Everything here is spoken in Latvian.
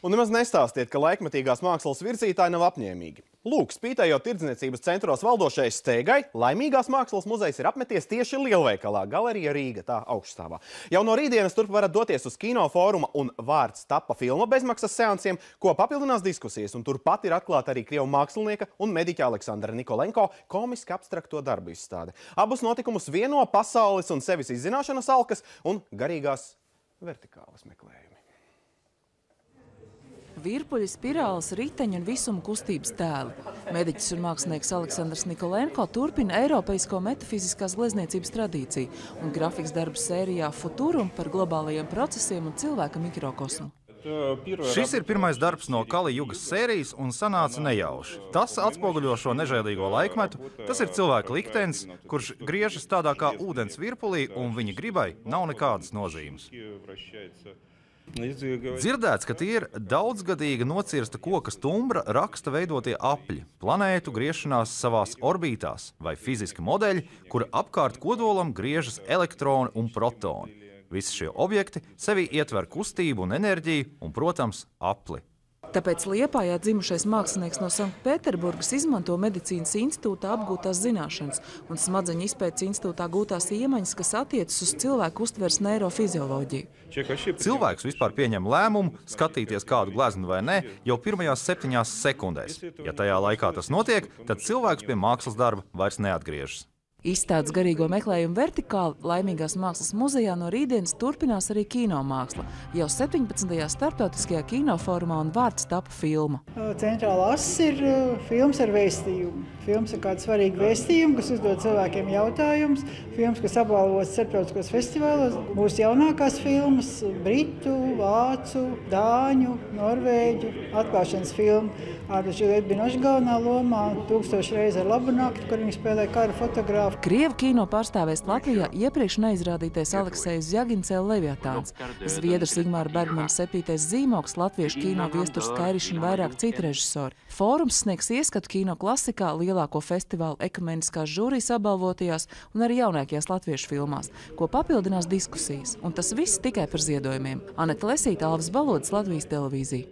Un nemaz nestāstiet, ka laikmetīgās mākslas virzītāji nav apņēmīgi. Lūk, spītējot tirdzniecības centros valdošajai steigai, Laimīgās mākslas muzejs ir apmeties tieši lielveikalā Galerija Rīga, tā augšstāvā. Jau no rītdienas turp varat doties uz kinofóruma un Vārds tapa filma bezmaksas seansiem, ko papildinās diskusijas, un turpat ir atklāta arī krievu mākslinieka un mediķa Aleksandra Nikolenko komiski abstrakto darbu izstāde. Abus notikumus vieno pasaules un sevis izzināšanas alkas un garīgās vertikālas meklējumi. Virpuļi, spirāles, riteņi un visuma kustības tēli. Mediķis un mākslinieks Aleksandrs Nikolenko turpina eiropeisko metafiziskās glezniecības tradīciju un grafikas darbu sērijā Futurum par globālajiem procesiem un cilvēka mikrokosmu. Šis ir pirmais darbs no Kali Jugas sērijas un sanāca nejauši. Tas atspoguļo šo nežēlīgo laikmetu, tas ir cilvēka liktenis, kurš griežas tādā kā ūdens virpulī un viņa gribai nav nekādas nozīmes. Dzirdēts, ka tie ir daudzgadīga nocirsta koka stumbra raksta veidotie apļi, planētu griešanās savās orbītās vai fiziski modeļi, kura apkārt kodolam griežas elektroni un protoni. Visi šie objekti sevī ietver kustību un enerģiju un, protams, apli. Tāpēc Liepājā dzimušais mākslinieks no Sanktpēterburgas izmanto medicīnas institūtā apgūtās zināšanas un smadzeņu izpētes institūtā gūtās iemaņas, kas attiecas uz cilvēku uztveres neirofizioloģiju. Cilvēks vispār pieņem lēmumu skatīties kādu gleznu vai ne jau pirmajās 7 sekundēs. Ja tajā laikā tas notiek, tad cilvēks pie mākslas darba vairs neatgriežas. Izstādes garīgo meklējumu vertikāli Laimīgās mākslas muzejā no rītdienas turpinās arī kino māksla. Jau 17. starptautiskajā kinofórumā un Vārds tapa filma. Centrālā ass ir filmas ar vēstījumu. Filmas ir kāda svarīga vēstījuma, kas uzdod cilvēkiem jautājumus. Filmas, kas apbalvotas starptautiskos festivālos. Mūsu jaunākās filmas - britu, vācu, dāņu, norvēģu atklāšanas filma. Žileta Binoša galvenā lomā, 1000 reizi ar labu nakti, kur viņi spēlē kara fotogrāfu. Krievu kino pārstāvēs Latvijā iepriekš neizrādītais Aleksejs Zjagincēla Leviatāns, Zviedrs Ingmāra Bergmana 7. zīmogs, latviešu kino Viesturs Kairišs un vairāk citu režisori. Fórums sniegs ieskatu kino klasikā, lielāko festivālu ekumeniskās žūrijas apbalvotajās un arī jaunākajās latviešu filmās, ko papildinās diskusijas. Un tas viss tikai par ziedojumiem. Aneta Lesīta, Alvis Balods, Latvijas televīzija.